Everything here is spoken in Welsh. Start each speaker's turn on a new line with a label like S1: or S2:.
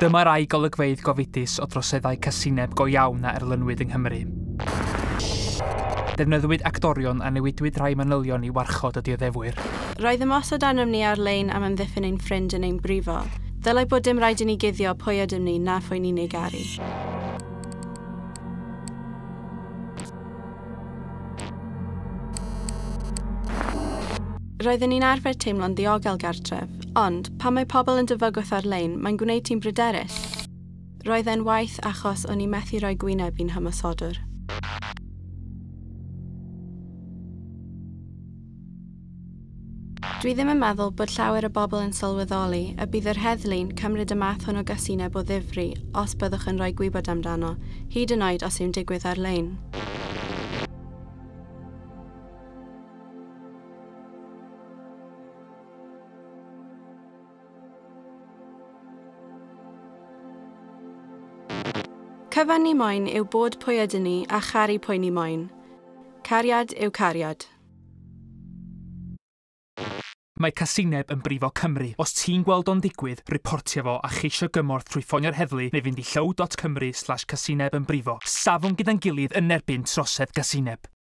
S1: Dyma rai golygfeydd gofidus o droseddau casineb go iawn a erlynwyd yng Nghymru. Defnyddiwyd actorion a newidwyd rhai manylion i warchod y dioddefwyr.
S2: Roedd ymosod arnom ni ar-lein am amddiffyn ein ffrind yn ein brifo. Ddylai bod dim rhaid i ni guddio pwy ydym ni na phwy ni'n ei garu. Roedden ni'n arfer teimlo'n ddiogel gartref, ond pan mae pobl yn dy fygwth ar-lein, mae'n gwneud ti'n bryderus. Roedd e'n waith achos o'n i methu rhoi gwyneb i'n hymosodwr. Dwi ddim yn meddwl bod llawer o bobl yn sylweddoli y bydd yr heddlu'n cymryd y math hwn o gasineb o ddifri os byddwch yn rhoi gwybod amdano, hyd yn oed os yw'n digwydd ar-lein. Cyfan ni moyn yw bod pwy ydyn ni a charu pwy ni moyn. Cariad yw cariad.
S1: Mae casineb yn brifo Cymru. Os ti'n gweld o'n digwydd, riportio fo a cheisio gymorth trwy ffonio'r heddlu neu fynd i llyw.cymru/casinebynbrifo. Safwn gyda'n gilydd yn erbyn trosedd gasineb.